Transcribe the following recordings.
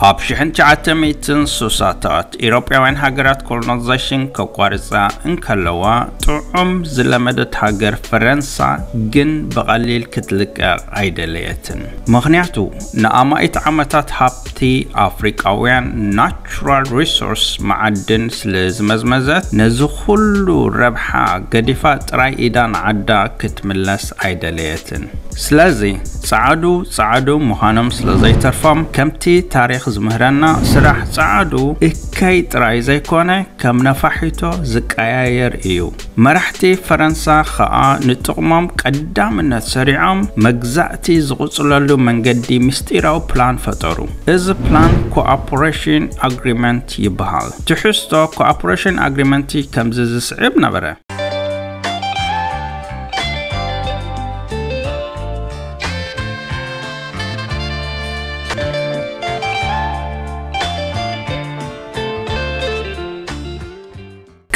ኣብ ሽሕን ትሽዓተ ሚእትን ሱሳታት ኢሮጳውያን ሃገራት ኮሎናይዜሽን ከቋርጻ እንከለዋ፣ ጥዑም ዝለመደት ሃገር ፈረንሳ ግን ብቐሊል ክትልቀቕ ኣይደለየትን። ምኽንያቱ፣ ንኣማኢት ዓመታት ሃብቲ ኣፍሪቃውያን ናቹራል ሪሶርስ፣ መዓድን፣ ስለ ዝመዝመዘት፣ ነዚ ኩሉ ረብሓ ገዲፋ ጥራይ ኢዳ ንዓዳ ክትምለስ ኣይደለየትን። ስለዚ ጸዓዱ ጸዓዱ ምዃኖም ስለ ዘይተርፎም፣ ከምቲ ታሪኽ ዝምህረና፣ ስራሕ ጸዓዱ እከይ ጥራይ ዘይኮነ ከም ነፋሒቶ ዝቀያየር እዩ። መራሕቲ ፈረንሳ ኸኣ ንጥቕሞም ቀዳምነት ሰሪዖም፣ መግዛእቲ ዝቕጽለሉ መንገዲ ምስጢራዊ ፕላን ፈጠሩ። እዚ ፕላን ኮኦፕሬሽን ኣግሪመንት ይበሃል። ትሕዝቶ ኮኦፕሬሽን ኣግሪመንት ከምዚ ዝስዕብ ነበረ።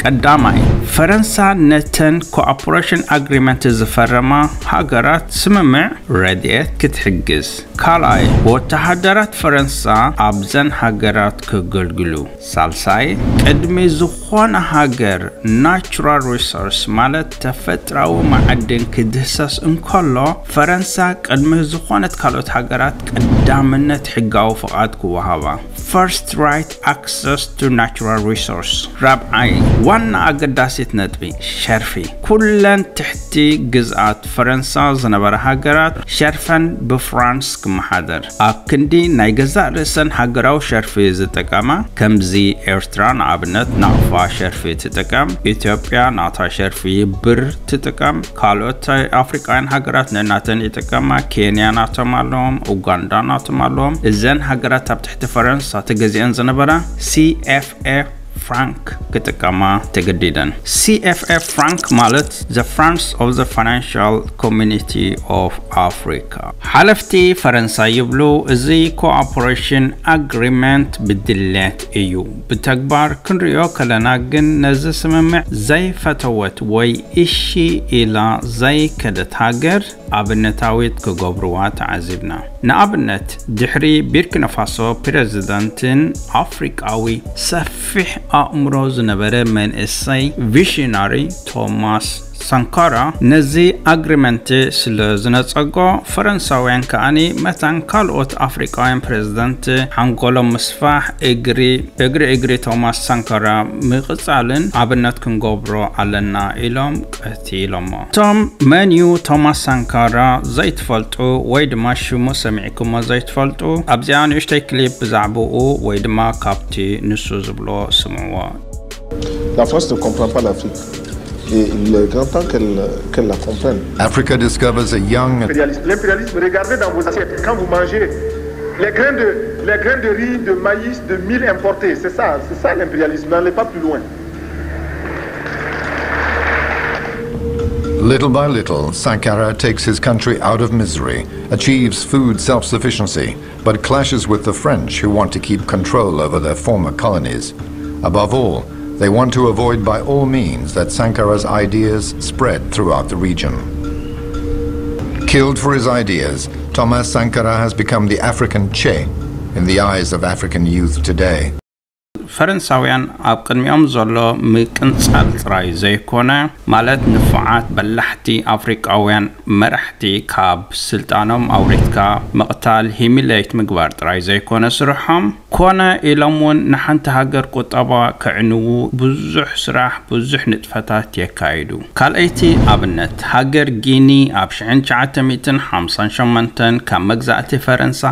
ቀዳማይ፣ ፈረንሳ ነተን ኮኦፕሬሽን ኣግሪመንት ዝፈረማ ሃገራት ስምምዕ ረድኤት ክትሕግዝ። ካልኣይ፣ ወተሃደራት ፈረንሳ ኣብዘን ሃገራት ክገልግሉ። ሳልሳይ፣ ቅድሚ ዝኾነ ሃገር ናቹራል ሪሶርስ ማለት ተፈጥራዊ መዓድን ክድህሰስ እንከሎ፣ ፈረንሳ ቅድሚ ዝኾነት ካልኦት ሃገራት ቀዳምነት ሕጋዊ ፍቓድ ክወሃባ። First right access to natural resource። ራብዓይ፣ ዋና ኣገዳሲት ነጥቢ፣ ሸርፊ። ኩለን ትሕቲ ግዝኣት ፈረንሳ ዝነበራ ሃገራት ሸርፈን ብፍራንስ ክመሓደር፣ ኣብ ክንዲ ናይ ገዛእ ርእሰን ሃገራዊ ሸርፊ ዝጥቀማ፣ ከምዚ ኤርትራ ንኣብነት ናቕፋ ሸርፊ ትጥቀም፣ ኢትዮጵያ ናታ ሸርፊ ብር ትጥቀም፣ ካልኦት ኣፍሪቃውያን ሃገራት ነናተን ይጥቀማ፣ ኬንያ ናቶም ኣለዎም፣ ኡጋንዳ ናቶም ኣለዎም። እዘን ሃገራት ኣብ ትሕቲ ፈረንሳ ተገዚአን ዝነበራ ሲ ኤፍ ኤ ፍራንክ ክጥቀማ ተገዲደን። ሲ ኤፍ ኤ ፍራንክ ማለት the Francs of the Financial Community of Africa። ሓለፍቲ ፈረንሳ ይብሉ፣ እዚ ኮኦፕሬሽን ኣግሪመንት ብድሌት እዩ። ብተግባር ክንሪኦ ከለና ግን ነዚ ስምምዕ ዘይፈተወት ወይ እሺ ኢላ ዘይከደት ሃገር ኣብነታዊት ክገብርዋ ተዓዚብና። ንኣብነት፣ ድሕሪ ቢርኪናፋሶ ፕረዚደንትን ኣፍሪቃዊ ሰፊሕ ኣእምሮ ዝነበረ መንእሰይ ቪሽናሪ ቶማስ ሳንካራ ነዚ ኣግሪመንት ስለ ዝነጸጎ፣ ፈረንሳውያን ከኣኒ መታን ካልኦት ኣፍሪቃውያን ፕረዚደንት ሓንጎሎም ምስፋሕ፣ እግሪ እግሪ እግሪ ቶማስ ሳንካራ ምቕጻልን ኣብነት ክንገብሮ ኣለና ኢሎም ቀቲሎሞ። እቶም መን እዩ ቶማስ ሳንካራ ዘይትፈልጡ ወይ ድማ ሽሙ ሰሚዕኩሞ ዘይትፈልጡ፣ ኣብዚኣ ንእሽተይ ክሊፕ ብዛዕባኡ ወይ ድማ ካብቲ ንሱ ዝብሎ ስምዕዎ። La France ne comprend pas l'Afrique. Et il est grand temps qu'elle qu'elle la comprenne. Africa discovers a young L'impérialisme, regardez dans vos assiettes. Quand vous mangez les grains de, les grains de riz, de maïs, de mil importés, c'est ça, c'est ça l'impérialisme. N'allez pas plus loin. Little by little, Sankara takes his country out of misery, achieves food self sufficiency, but clashes with the French who want to keep control over their former colonies. Above all, they want to avoid by all means that Sankara's ideas spread throughout the region. Killed for his ideas, Thomas Sankara has become the African Che in the eyes of African youth today. ፈረንሳውያን ኣብ ቅድሚኦም ዘሎ ምቅንጻል ጥራይ ዘይኮነ፣ ማለት ንፉዓት በላሕቲ ኣፍሪቃውያን መራሕቲ ካብ ስልጣኖም ኣውሪድካ ምቕታል፣ ሂሚሌት ምግባር ጥራይ ዘይኮነ ስርሖም፣ ኮነ ኢሎም እውን ንሓንቲ ሃገር ቁጠባ ከዕንዉ ብዙሕ ስራሕ፣ ብዙሕ ንጥፈታት የካይዱ። ካልኣይቲ ኣብነት፣ ሃገር ጊኒ ኣብ ሽሕን ትሽዓተ ሚእትን ሓምሳን ሸሞንተን ካብ መግዛእቲ ፈረንሳ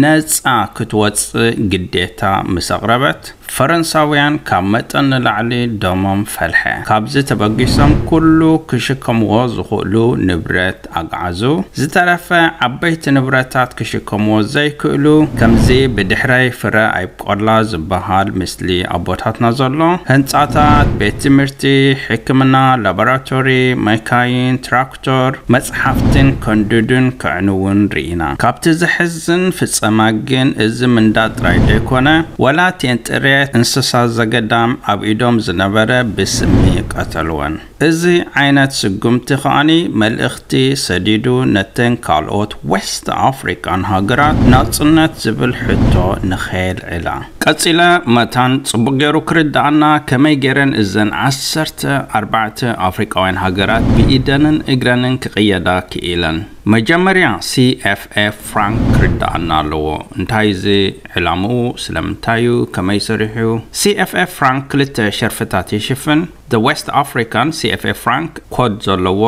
ነጻ ክትወጽእ ግዴታ ምስ ኣቕረበት፣ ፈረንሳውያን ካብ መጠን ንላዕሊ ደሞም ፈልሐ። ካብዚ ተበጊሶም ኩሉ ክሽከምዎ ዝኽእሉ ንብረት ኣግዓዙ። ዝተረፈ ዓበይቲ ንብረታት ክሽከምዎ ዘይክእሉ፣ ከምዚ ብድሕረይ ፍረ ኣይብቆላ ዝበሃል ምስሊ ኣቦታትና ዘሎ፣ ህንጻታት፣ ቤት ትምህርቲ፣ ሕክምና፣ ላቦራቶሪ፣ መካይን፣ ትራክተር፣ መጽሓፍትን ከንድዱን ከዕንውን ርኢና። ካብቲ ዘሕዝን ፍጸማ ግን እዚ ምንዳድ ጥራይ ዘይኮነ፣ ወላ ቴንጥሬ እንስሳ ዘገዳም ኣብ ኢዶም ዝነበረ ብስሚ ቀተልወን። እዚ ዓይነት ስጉምቲ ከኣኒ መልእኽቲ ሰዲዱ ነተን ካልኦት ዌስት ኣፍሪቃን ሃገራት ናጽነት ዝብል ሕቶ ንኸየልዕላ። ቀጺለ መታን ጽቡቕ ገይሩ ክርድኣና ከመይ ገይረን እዘን ዓሰርተ ኣርባዕተ ኣፍሪቃውያን ሃገራት ብኢደንን እግረንን ክቕየዳ ክኢለን። መጀመርያ CFA Frank ክርድኣና ኣለዎ። እንታይ እዚ ዕላምኡ? ስለምንታይ እዩ? ከመይ ሰሪሑ? CFA Frank ክልተ ሸርፍታት ይሽፍን። The West African CFA Frank ኮድ ዘለዎ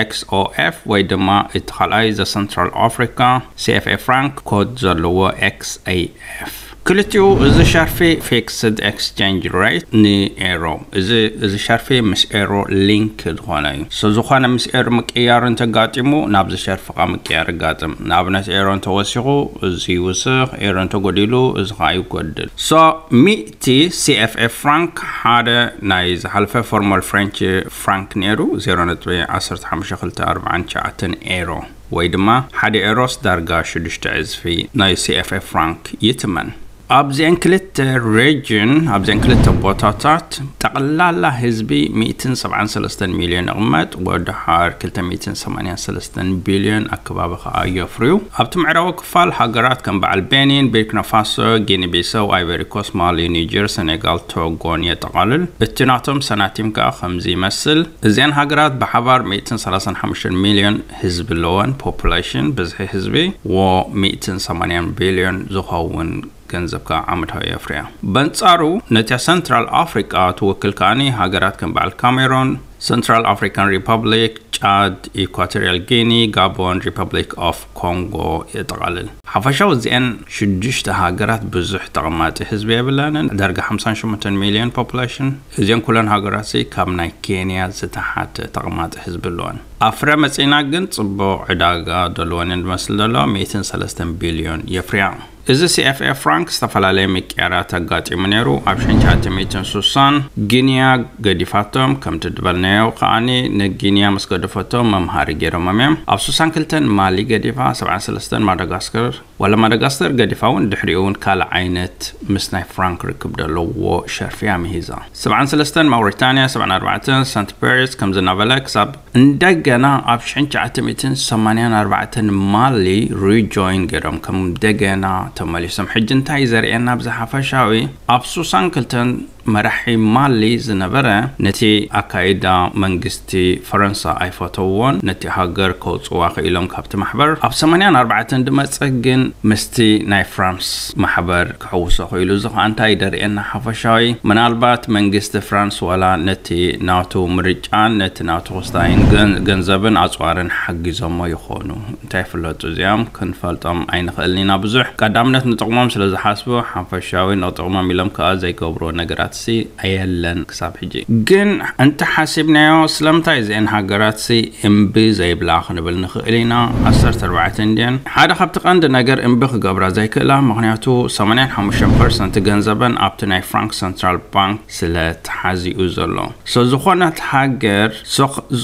XOF ወይ ድማ እቲ ካልኣይ The Central Africa CFA Frank ኮድ ዘለዎ XAF። ክልቲኡ እዚ ሸርፊ fixed exchange rate ንኤሮ። እዚ እዚ ሸርፊ ምስ ኤሮ ሊንክ ዝኾነ እዩ። So ዝኾነ ምስ ኤሮ ምቅያር እንተጋጢሙ ናብዚ ሸርፊ ካ ምቅያር ይጋጥም። ንኣብነት ኤሮ እንተወሲኹ እዚ ይውስኽ፣ ኤሮ እንተጎዲሉ እዚ ኸዓ ይጎድል። So ሚእቲ CFA Frank ሓደ ናይ ዝሓለፈ former French franc ነይሩ፣ ዜሮ ነጥቢ ዓሰርተ ሓሙሽተ ክልተ ኣርባዕተ ትሽዓተ ኤሮ ወይ ድማ ሓደ ኤሮስ ዳርጋ ሽዱሽተ ዕጽፊ ናይ CFA Frank ይትመን። ኣብዚአን ክልተ region፣ ኣብዚአን ክልተ ቦታታት ጠቕላላ ህዝቢ ሚእትን ሰብዓን ሰለስተን ሚልዮን ይቕመጥ፣ ወድሓር ክልተ ሚእትን ሰማንያን ሰለስተን ቢልዮን ኣከባቢ ከኣ የፍርዩ። ኣብቲ ምዕራባዊ ክፋል ሃገራት ከም በዓል ቤኒን፣ ቡርኪና ፋሶ፣ ጊኒ ቢሳው፣ ኣይቨሪ ኮስት፣ ማሊ፣ ኒጀር፣ ሰኔጋል፣ ቶጎን የጠቓልል። እቲ ናቶም ሰናቲም ከኣ ከምዚ ይመስል። እዚአን ሃገራት ብሓባር ሚእትን ሰላሳን ሓሙሽተን ሚልዮን ህዝቢ ኣለወን፣ ፖፑሌሽን፣ ብዝሒ ህዝቢ፣ ወ ሚእትን ሰማንያን ቢልዮን ዝኸውን ገንዘብ ከኣ ዓመታዊ የፍርያ። በንጻሩ ነቲ ሰንትራል ኣፍሪቃ ትውክል ከኣኒ ሃገራት ከም በዓል ካሜሮን፣ ሰንትራል ኣፍሪካን ሪፐብሊክ፣ ጫድ፣ ኢኳቶሪያል ጊኒ፣ ጋቦን፣ ሪፐብሊክ ኦፍ ኮንጎ የጠቓልል። ሓፈሻዊ እዚአን ሽዱሽተ ሃገራት ብዙሕ ተቐማጢ ህዝቢ የብለንን፣ ዳርጋ ሓምሳን ሸሞንተን ሚልዮን ፖፑሌሽን። እዚአን ኩለን ሃገራት ሲ ካብ ናይ ኬንያ ዝተሓተ ተቐማጢ ህዝቢ ኣለወን። ኣፍረ መጺና ግን ጽቡቕ ዕዳጋ ዘለወን እየን ዝመስል ዘሎ፣ ሚእትን ሰለስተን ቢልዮን የፍርያ። እዚ CFA Frank ዝተፈላለየ ምቅያራት ኣጋጢሙ ነይሩ። ኣብ ሸንቻተ ሚእትን ሱሳን ጊንያ ገዲፋቶም፣ ከምቲ ዝበልናዮ ከኣኒ ንጊንያ ምስ ገደፈቶም መምሃሪ ገይሮሞም እዮም። ኣብ ሱሳን ክልተን ማሊ ገዲፋ፣ ሰብዓን ሰለስተን ማዳጋስከር፣ ዋላ ማዳጋስከር ገዲፋ እውን ድሕሪኡ እውን ካልእ ዓይነት ምስ ናይ ፍራንክ ርክብ ዘለዎ ሸርፊ ኣምሂዛ። ሰብዓን ሰለስተን ማውሪታንያ፣ ሰብዓን ኣርባዕተን ሰንት ፔርስ፣ ከምዚ እናበለ ክሳብ እንደገና ኣብ ሽሕን ትሽዓተ ሚእትን ሰማንያን ኣርባዕተን ማሊ ሪጆይን ገይሮም ከም እንደገና ተመሊሶም። ሕጂ እንታይ ዘርእየና ኣብዚ ሓፈሻዊ ኣብ ሱሳን ክልተን መራሒ ማሊ ዝነበረ ነቲ ኣካይዳ መንግስቲ ፈረንሳ ኣይፈተውዎን። ነቲ ሃገር ከውፅዋ ክኢሎም ካብቲ ማሕበር ኣብ ሰማንያን ኣርባዕተን ድመፀ ግን ምስቲ ናይ ፍራንስ ማሕበር ክሕውሶ ክኢሉ። እዚ ከዓ እንታይ ደርእየና ሓፈሻዊ? ምናልባት መንግስቲ ፍራንስ ዋላ ነቲ ናቱ ምርጫን ነቲ ናቱ ክስታይን ገን- ገንዘብን ኣፅዋርን ሓጊዞሞ ይኾኑ። እንታይ ይፍለጡ እዚኦም? ክንፈልጦም ኣይንኽእልን ኢና። ብዙሕ ቀዳምነት ንጥቕሞም ስለ ዝሓስቡ ሓፈሻዊ ንጥቕሞም ኢሎም ከዓ ዘይገብርዎ ነገራት ሲ ኣየለን ክሳብ ሕጂ። ግን እንተሓሲብናዮ ስለምንታይ እዚአን ሃገራት ሲ እምቢ ዘይብላ ክንብል ንኽእል ኢና። ዓሰርተ ኣርባዕተ እንድየን ሓደ ካብቲ ቀንዲ ነገር እምቢ ክገብራ ዘይክእላ፣ ምኽንያቱ ሰማንያን ሓሙሽተን ፐርሰንት ገንዘበን ኣብቲ ናይ ፍራንክ ሰንትራል ባንክ ስለ ተሓዚኡ ዘሎ። So ዝኾነት ሃገር፣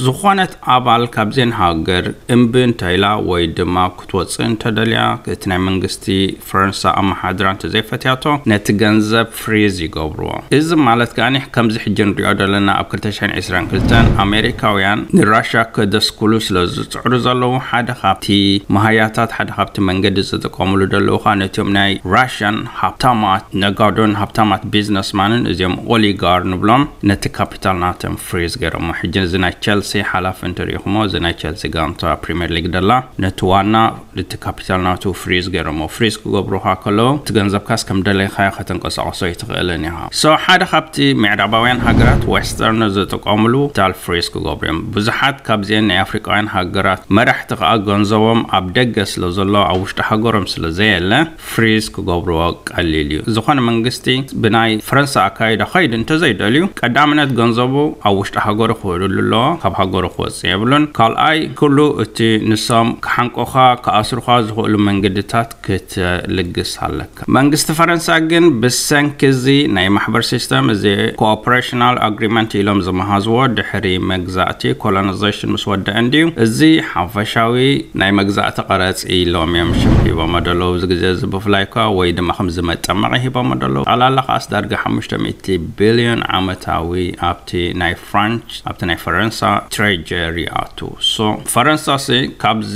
ዝኾነት ኣባል ካብዘን ሃገር እምቢ እንተኢላ ወይ ድማ ክትወፅእ እንተደልያ እቲ ናይ መንግስቲ ፈረንሳ ኣመሓድራ እንተዘይፈትያቶ ነቲ ገንዘብ ፍሪዝ ይገብርዎ። እዚ ማለት ከኣ ከምዚ ሕጂ ንሪኦ ዘለና ኣብ ክልተ ሽሕን ዕስራን ክልተን ኣሜሪካውያን ንራሻ ከደስኩሉ ስለ ዝፅዕሩ ዘለዉ ሓደ ካብቲ መሃያታት ሓደ ካብቲ መንገዲ ዝጥቀሙሉ ዘለዉ ከዓ ነቲኦም ናይ ራሽያን ሃብታማት ነጋዶን ሃብታማት ቢዝነስማንን እዚኦም ኦሊጋር ንብሎም ነቲ ካፒታል ናቶም ፍሪዝ ገይሮሞ። ሕጂ እዚ ናይ ቸልሲ ሓላፊ እንተሪኢኹሞ እዚ ናይ ቸልሲ ጋንታ ፕሪምየር ሊግ ደላ ነቲ ዋና እቲ ካፒታል ናቱ ፍሪዝ ገይሮሞ። ፍሪዝ ክገብሩኻ ከለዉ እቲ ገንዘብካስ ከም ደለይካዮ ከተንቀሳቐሶ ኣይትኽእልን ኢኻ። So ሓደ ካብቲ ምዕራባውያን ሃገራት ዌስተርን ዝጥቀሙሉ ካፒታል ፍሪዝ ክገብሩ እዮም። ብዙሓት ካብዚአን ናይ ኣፍሪቃውያን ሃገራት መራሕቲ ከዓ ገንዘቦም ኣብ ደገ ስለ ዘሎ ኣብ ውሽጢ ሃገሮም ስለ ዘየለ ፍሪዝ ክገብርዎ ቀሊል እዩ። ዝኾነ መንግስቲ ብናይ ፈረንሳ ኣካይዳ ከይድ እንተዘይደልዩ ቀዳምነት ገንዘቡ ኣብ ውሽጢ ሃገሩ ክውዕልሉ ኣለዎ። ካብ ሃገሩ ክወፅእ የብሉን። ካልኣይ ኩሉ እቲ ንሶም ክሓንቆኻ ክኣስሩኻ ዝኽእሉ መንገድታት ክትልግስ ኣለካ። መንግስቲ ፈረንሳ ግን ብሰንኪ እዚ ናይ ማሕበር ሲስተም እዚ ኮኦፕሬሽናል ኣግሪመንት ኢሎም ዝመሃዝዎ ድሕሪ መግዛእቲ ኮሎናይዜሽን ምስ ወደአ እንድዩ። እዚ ሓፈሻዊ ናይ መግዛእቲ ቀረፅ ኢሎም እዮም ሽም ሂቦሞ ደለዉ። እዚ ግዜ እዚ ብፍላይ ከ ወይ ድማ ከም ዝመጠመቂ ሂቦሞ ደለዉ። ጠቕላላ ከኣስ ዳርጋ ሓሙሽተ ሚእቲ ቢልዮን ዓመታዊ ኣብቲ ናይ ፍራንች ኣብቲ ናይ ፈረንሳ ትሬጀሪ ኣቱ። ሶ ፈረንሳ ሲ ካብዚ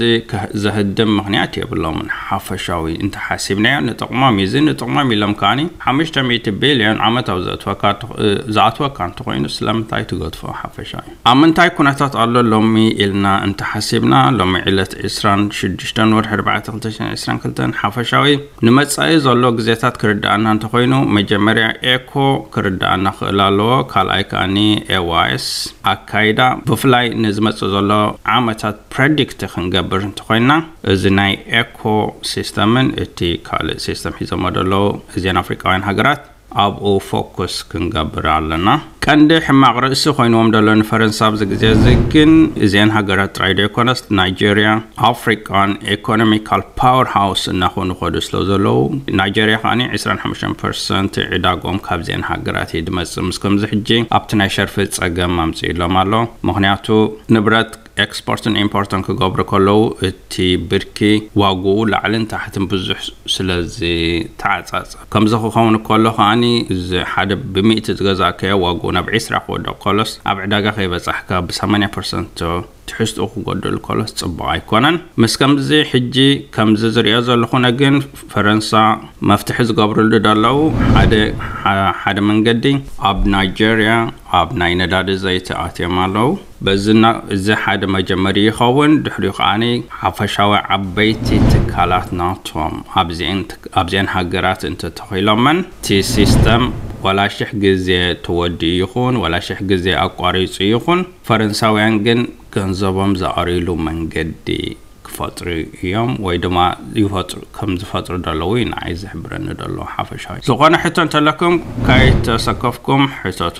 ዘህድም ምክንያት የብሎምን። ሓፈሻዊ እንተሓሲብናዮ ንጥቕሞም እዩ። እዚ ንጥቕሞም ኢሎም ከዓኒ ሓሙሽተ ሚእቲ ቢልዮን ዓመታዊ ዘእትወካ ዝኣትወካ እንተኮይኑ ስለምንታይ ትገድፎ ሓፈሻዊ? ኣብ ምንታይ ኩነታት ኣሎ ሎሚ ኢልና እንተሓሲብና፣ ሎሚ ዕለት ዕስራን ሽዱሽተን ወርሒ ኣርባዕተ ክልተ ሽሕን ዕስራን ክልተን ሓፈሻዊ ንመጻኢ ዘሎ ግዜታት ክርድኣና እንተኮይኑ፣ መጀመርያ ኤኮ ክርድኣና ክእል ኣለዎ። ካልኣይ ከኣኒ ኤዋይስ ኣካይዳ ብፍላይ ንዝመጽእ ዘሎ ዓመታት ፕረዲክት ክንገብር እንተኮይና፣ እዚ ናይ ኤኮ ሲስተምን እቲ ካልእ ሲስተም ሒዞሞ ዘለዉ እዚን ኣፍሪቃውያን ሃገራት ኣብኡ ፎኩስ ክንገብር ኣለና። ቀንዲ ሕማቕ ርእሲ ኮይንዎም ዘሎ ንፈረንሳ ኣብዚ ግዜ እዚ ግን እዚን ሃገራት ጥራይ ዶ ይኮነስ ናይጄርያ ኣፍሪቃን ኢኮኖሚካል ፓወር ሃውስ እናኾኑ ከዱ ስለ ዘለዉ፣ ናይጄርያ ከዓኒ ዕስራን ሓሙሽተን ፐርሰንት ዕዳጎም ካብዚአን ሃገራት እዩ ድመጽእ። ምስ ከምዚ ሕጂ ኣብቲ ናይ ሸርፊ ጸገም ኣምጽእሎም ኣሎ። ምክንያቱ ንብረት ኤክስፖርትን ኢምፖርትን ክገብሩ ከለዉ እቲ ብርኪ ዋግኡ ላዕልን ታሕትን ብዙሕ ስለዚ ተዓጻጸ። ከምዚ ክኸውን ከሎ ከዓኒ እዚ ሓደ ብሚእቲ ዝገዛእካዮ ዋግኡ ናብ ዕስራ ክወድቕ ከሎስ ኣብ ዕዳጋ ከይበጻሕካ ብሰማንያ ፐርሰንት ትሕዝትኡ ክጎድል ከሎስ ጽቡቕ ኣይኮነን። ምስ ከምዚ ሕጂ ከምዚ ዝሪኦ ዘለኹነ ግን ፈረንሳ መፍትሒ ዝገብርሉ ደለዉ ሓደ ሓደ መንገዲ ኣብ ናይጄርያ ኣብ ናይ ነዳዲ ዘይቲ ኣትዮም ኣለዉ። በዚ እዚ ሓደ መጀመሪ ይኸውን። ድሕሪኡ ከዓኒ ሓፈሻዊ ዓበይቲ ትካላት ናቶም ኣብዚአን ኣብዚአን ሃገራት እንተተኺሎመን እቲ ሲስተም ዋላ ሽሕ ግዜ ተወዲኡ ይኹን ዋላ ሽሕ ግዜ ኣቋሪጹ ይኹን፣ ፈረንሳውያን ግን ገንዘቦም ዝኣርይሉ መንገዲ ክፈጥሩ እዮም ወይ ድማ ይፈጥሩ ከም ዝፈጥሩ ደለዉ እዩ ንዓይ ዝሕብረኒ ደሎ ሓፈሻዊ። ዝኾነ ሕቶ እንተለኩም ከይተሰከፍኩም ሕተቱ።